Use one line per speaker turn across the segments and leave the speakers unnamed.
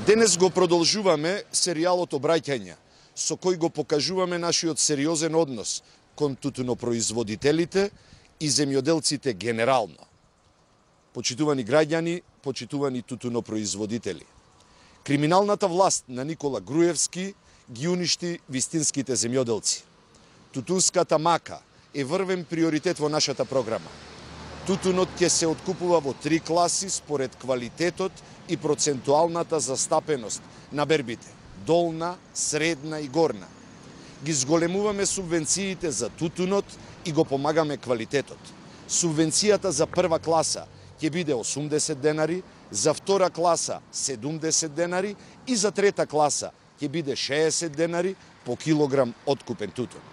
Денес го продолжуваме серијалот Обраќања, со кој го покажуваме нашиот сериозен однос кон тутунопроизводителите и земјоделците генерално. Почитувани граѓани, почитувани тутунопроизводители. Криминалната власт на Никола Груевски ги уништи вистинските земјоделци. Тутунската мака е врвен приоритет во нашата програма. Тутунот ќе се откупува во 3 класи според квалитетот и процентуалната застапеност на бербите – долна, средна и горна. Ги зголемуваме субвенциите за тутунот и го помагаме квалитетот. Субвенцијата за прва класа ќе биде 80 денари, за втора класа 70 денари и за трета класа ќе биде 60 денари по килограм откупен тутун.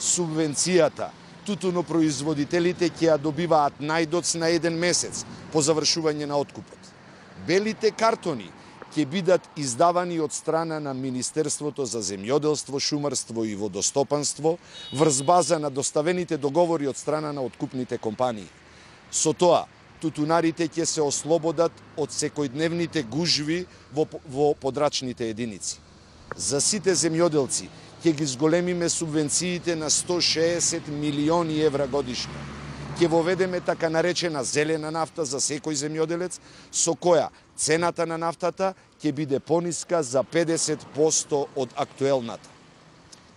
Субвенцијата тутунопроизводителите ќе ја добиваат најдоц на 1 месец по завршување на откупот. Белите картони ќе бидат издавани од страна на Министерството за земјоделство, шумарство и водостопанство врз база на доставените договори од страна на откупните компании. Со тоа, тутунарите ќе се ослободат од секојдневните гужви во подрачните единици. За сите земјоделци ќе ги зголемиме субвенциите на 160 милиони евра годишно. Ќе воведеме така наречена зелена нафта за секој земјоделец, со која цената на нафтата ќе биде пониска за 50% од актуелната.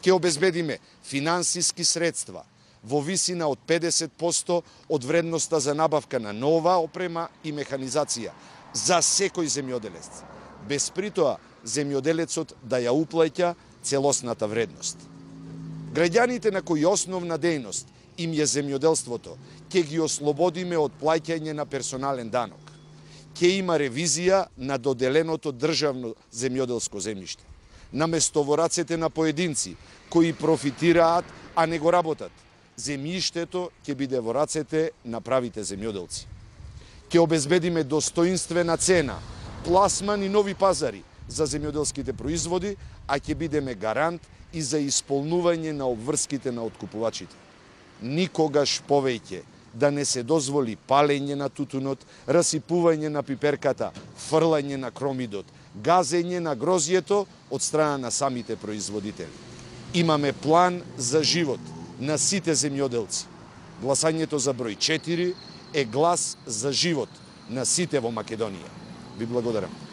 Ќе обезбедиме финансиски средства во висина од 50% од вредноста за набавка на нова опрема и механизација за секој земјоделец, без при тоа земјоделецот да ја уплаќа целосната вредност. Граѓаните на кои основна дејност им е земјоделството, ќе ги ослободиме од плаќање на персонален данок. Ќе има ревизија на доделеното државно земјоделско земјиште. Наместо во рацете на поединци кои профитираат, а не го работат, земјиштето ќе биде во рацете на правите земјоделци. Ќе обезбедиме достоинствена цена, пласман и нови пазари за земјоделските производи, а ќе бидеме гарант и за исполнување на обврските на откупувачите. Никогаш повеќе да не се дозволи палење на тутунот, расипување на пиперката, фрлање на кромидот, газење на грозјето од страна на самите производители. Имаме план за живот на сите земјоделци. Гласањето за број 4 е глас за живот на сите во Македонија. Ви благодарам.